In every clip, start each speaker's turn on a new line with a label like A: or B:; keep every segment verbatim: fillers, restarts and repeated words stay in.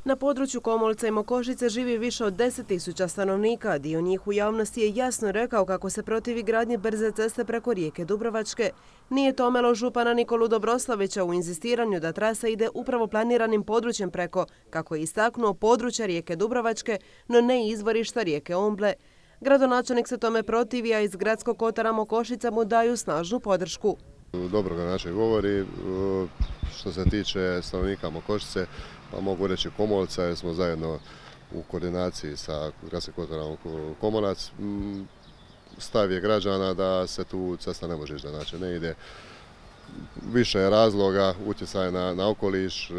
A: Na području Komolca i Mokošice živi više od deset tisuća stanovnika. Dio njih u javnosti je jasno rekao kako se protivi gradnje brze ceste preko rijeke Dubrovačke. Nije to omelo župana Nikolu Dobroslavića u inzistiranju da trasa ide upravo planiranim područjem preko, kako je istaknuo, područja rijeke Dubrovačke, no ne izvorišta rijeke Omble. Gradonačelnik se tome protivi, a iz gradskog kotara Mokošica mu daju snažnu podršku.
B: Dobro ga način govori. Što se tiče stanovnika Mokošice, pa mogu reći Komolca, jer smo zajedno u koordinaciji sa gradskim kotarom Komolac. Stav je građana da se tu cesta ne može ići, znači ne ide. Više je razloga, utjecaj na, na okoliš,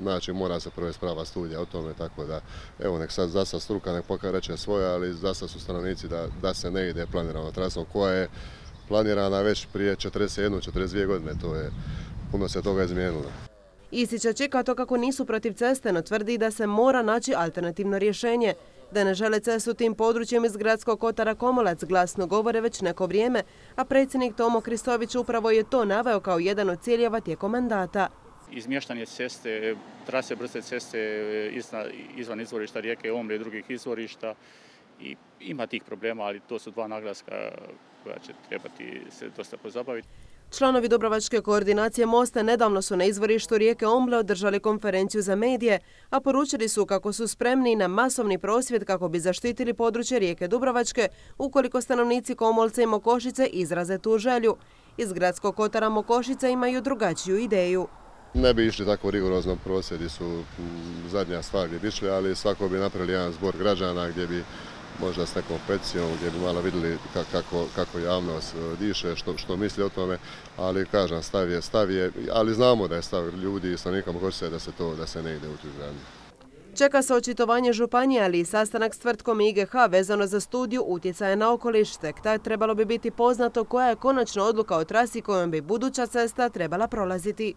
B: znači mora se provesti prava studija o tome, tako da evo nek sad za sad struka nek pokaže reče svoje, ali za sad su stanovnici da, da se ne ide planiranom trasom koja je planirana već prije četrdeset jednu do četrdeset dvije godine, to je puno se toga izmijenilo.
A: Isića čeka to kako nisu protiv ceste, no tvrdi da se mora naći alternativno rješenje. Da ne žele cestu tim područjem iz gradskog kotara Komolac glasno govore već neko vrijeme, a predsjednik Tomo Kristović upravo je to naveo kao jedan od ciljeva tijekom mandata.
C: Izmještanje ceste, trase brze ceste izvan izvorišta rijeke Omble i drugih izvorišta, i ima tih problema, ali to su dva naglaska koja će trebati se dosta pozabaviti.
A: Članovi Dubrovačke koordinacije Mosta nedavno su na izvorištu rijeke Omble održali konferenciju za medije, a poručili su kako su spremni na masovni prosvjed kako bi zaštitili područje rijeke Dubrovačke ukoliko stanovnici Komolca i Mokošice izraze tu želju. Iz gradskog kotara Mokošice imaju drugačiju ideju.
B: Ne bi išli tako rigorozno, prosvjedi su zadnja stvar gdje bi išli, ali svako bi napravili jedan zbor građana gdje bi možda s nekom peticijom gdje bi malo vidjeli kako, kako javnost diše, što, što misli o tome, ali kažem, stav je, stav je, ali znamo da je stav ljudi i stanovnika Mokošice da se to, da se ne ide u tu izgradnju.
A: Čeka se očitovanje županije, ali i sastanak s tvrtkom I G H vezano za studiju utjecaja na okoliš. Tek tad trebalo bi biti poznato koja je konačna odluka o trasi kojom bi buduća cesta trebala prolaziti.